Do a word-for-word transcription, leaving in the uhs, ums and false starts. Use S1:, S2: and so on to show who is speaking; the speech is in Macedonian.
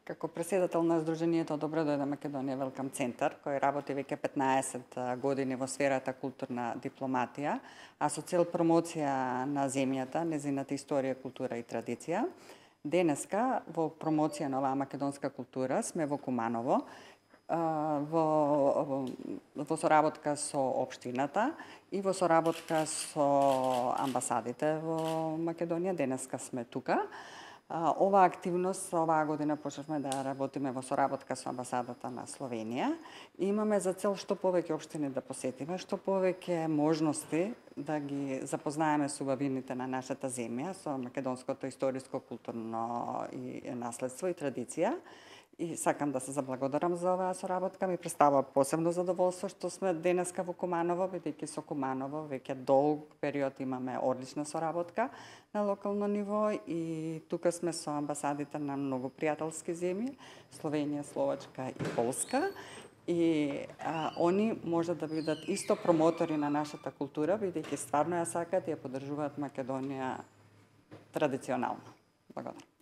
S1: Како преседател на Сдруженијето Добро дојде Македонија Велкам центар, кој работи веќе петнаесет години во сферата културна дипломатија, а со цел промоција на земјата, незината историја, култура и традиција. Денеска во промоција на оваа македонска култура сме во Куманово, во, во соработка со општината и во соработка со амбасадите во Македонија. Денеска сме тука. Оваа активност оваа година почнавме да работиме во соработка со амбасадата на Словенија и имаме за цел што повеќе општини да посетиме, што повеќе можности да ги запознаеме со убавините на нашата земја, со македонското историско, културно и наследство и традиција. И сакам да се заблагодарам за оваа соработка. Ми представува посебно задоволство што сме денеска во Куманово, бидејќи со Куманово веќе долг период имаме одлична соработка на локално ниво и тука сме со амбасадите на многу пријателски земји, Словенија, Словачка и Полска. И а, они може да бидат исто промотори на нашата култура, бидејќи стварно ја сакаат и ја поддржуваат Македонија традиционално. Благодарам.